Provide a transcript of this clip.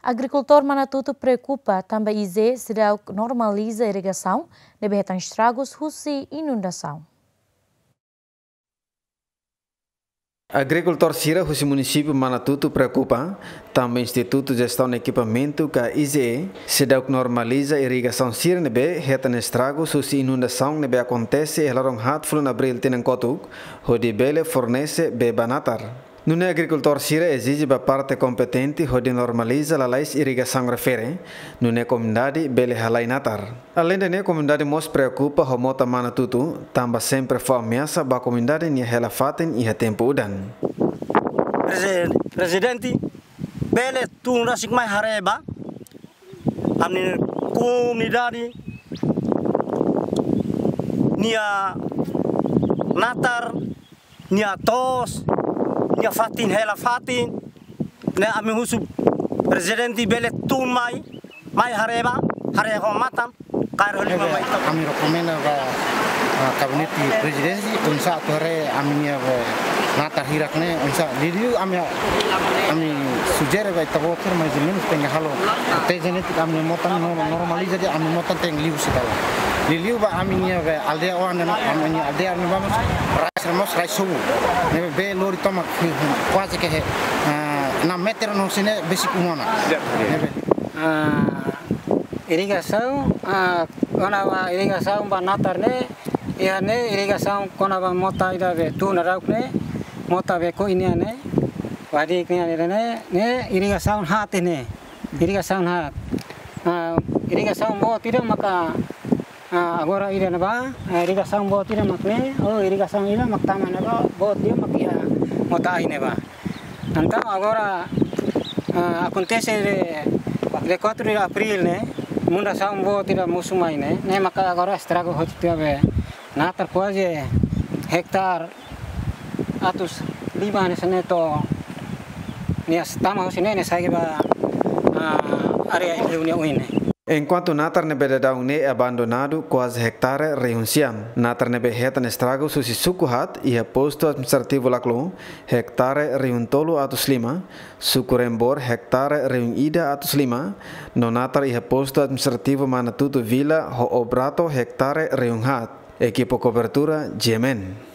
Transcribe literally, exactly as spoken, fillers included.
Agrikultór Manatuto preokupa tanba IGE seidauk normaliza irrigasaun ne'ebé hetan estragus husi inundasaun. Agrikultór sira husi munisípiu Manatuto preokupa tanba Institutu Jestaun Ekipamentu ka IGE seidauk normaliza irrigasaun sira ne'ebé hetan estragus husi inundasaun ne'ebé akontese iha loron haat fulan Abríl tinan kotuk, hodi bele fornese bee ba natar. Nune'e agrikultór sira ezije ba parte kompetente hodi normaliza lalais irrigasaun refere, nune'e komunidade bele halai natar. Aleinde ne'e, komunidade mós preokupa ho mota Manatuto, tanba sempre fó ameasa ba komunidade nia hela-fatin iha tempu udan. Prezi-, Prezidente, bele tun rasik mai haree ba ami-nia komunidade nia natar, nia to'os, nia fatin hela-fatin, ne'e ami husu Prezidente bele tun mai, mai haree ba, haree ho matan, kaer ho liman mai. Ami rekomenda ba, ah, Gabinete Prezidénsia, oinsá atu haree ami-nia, eh, natar hirak ne'e, oinsá, liuliu ami, ami sujere ba ita-boot sira, mais ou menus tenke halo, tenke ami-nia mota no-, normaliza de'it, ami-nia mota tenke liu sira ba. Liuliu ba ami-nia, eh, aldeia oan ne'e, ami-nia aldeia ne'ebá mós rai sira mós rai sobu. Ne'ebé bee lori tomak, kuaze ke, eh, enam meter no sira ne'e besik uma ona. Ne'ebé. Ah, irrigasaun, ah, kona-ba irrigasaun ba natar ne'e, iha ne'e irrigasaun kona-ba mota ida be tun daudauk ne'e, mota be ko ini ne'e, wadi ini ne'e, ne'e, ne'e irrigasaun haat ne'e, irrigasaun haat. Ah, irrigasaun boot ida maka, ah, agora ida ne'ebá, ah, irrigasaun boot ida mak ne'e, oh, irrigasaun ida mak tama ne'ebá, boot ida mak iha mota ai ne'ebá. Entaun agora, ah, akontese de, de quatro de Abríl ne'e, inundasaun boot ida mosu mai ne'e, ne'e maka agora estraga hotu tiha be natar kuaze hektare atus lima ne'e sene to nia tama husi ne'e, ne'e sai ba, ah, área liu nia oin ne'e. Enkuantu natar ne'ebé daudaun ne'e abandonadu kuaze hektare rihun sia. Natar ne'ebé hetan estragus husi suku haat iha postu administrativu Laclo, hektare rihun tolu atus lima, suku Rembor, hektare rihun ida atus lima, no natar iha postu administrativu Manatuto Vila ho Obrato, hektare rihun haat. Ekipa kobertura, G M N.